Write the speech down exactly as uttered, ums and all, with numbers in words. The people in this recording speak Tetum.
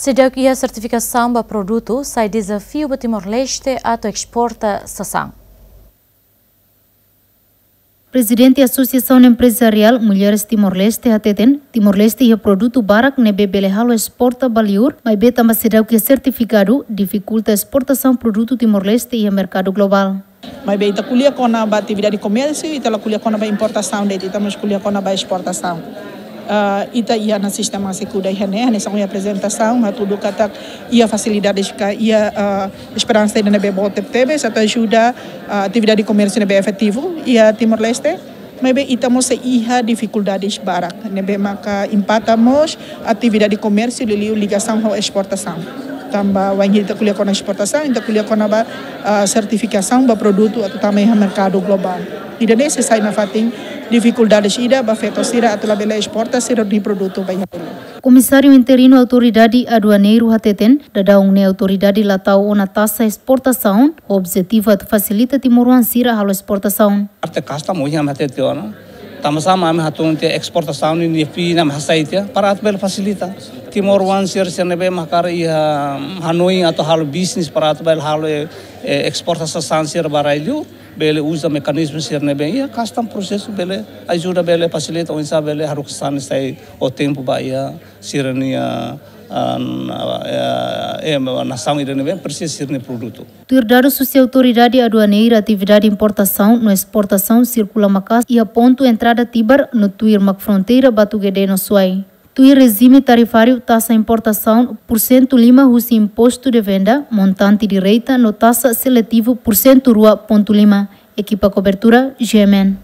Seidauk iha sertifikasaun ba produtu, sai dezafiu ba Timor-Leste atu esportasaun. Prezidente Asosiasaun Empresariál Mulheres Timor-Leste hateten, Timor-Leste iha produtu barak ne'ebé bele halo esporta ba liur, maibé tanba seidauk iha sertifikadu, difikulta esportasaun produtu Timor-Leste iha merkadu globál. Maibé ita ko'alia kona-ba atividade komérsiu, ita la ko'alia kona-ba importasaun de'it, ita mós ko'alia kona-ba esportasaun. Ah, ita iha ona sistema sekuda iha ne'e, hanesan ohin aprezentasaun, hatudu katak iha fasilidades ka iha, ah, esperansa ida ne'ebé boot tebetebes atu ajuda, ah, atividade komérsiu ne'ebé efetivu iha Timor-Leste. Maibé ita mós sei iha difikuldades barak ne'ebé maka impakta mós atividade komérsiu liuliu ligasaun ho esportasaun. Tanba wainhira ita ko'alia kona esportasaun, ita ko'alia kona-ba, ah, sertifikasaun ba produtu atu tama iha merkadu globál. Ida-ne'e sei sai nafatin difikuldades ida ba feto sira atu labele esporta sira-nia produtu ba iha. Komisáriu Interinu Autoridade Aduaneiru hateten, daudaun ne'e autoridade la tau ona taxa esportasaun, ho objetivu atu fasilita timoroan sira halo esportasaun. Parte custom ohin ami hatete ona. Tanba sá mak ami hatún tiha esportasaun ninia fee ne'e mak hasai tiha, para atu bele fasilita timoroan sira, sira ne'ebé mak hakarak iha hanoin atu halo bisnis para atu bele halo, eh, eh, esportasaun sira ba rai-liur, bele uza mekanizmu sira ne'ebé iha, custom prosesu bele ajuda, bele fasilita oinsá bele haruka sasán ne'e sai ho tempu ba iha sira-nia, ah, eh, eh, nasaun ida ne'ebé presiza sira-nia produtu. Tuir dadus husi Autoridade Aduaneira, atividade importasaun no esportasaun sirkula maka'as iha pontu entrada Tibar no tuir mak fronteira Batugede no Suai. Tuir rejime tarifáriu, taxa importasaun porsentu lima husi impostu de venda, montante direita no taxa seletivu porsentu rua pontu lima. Ekipa kobertura, G M N.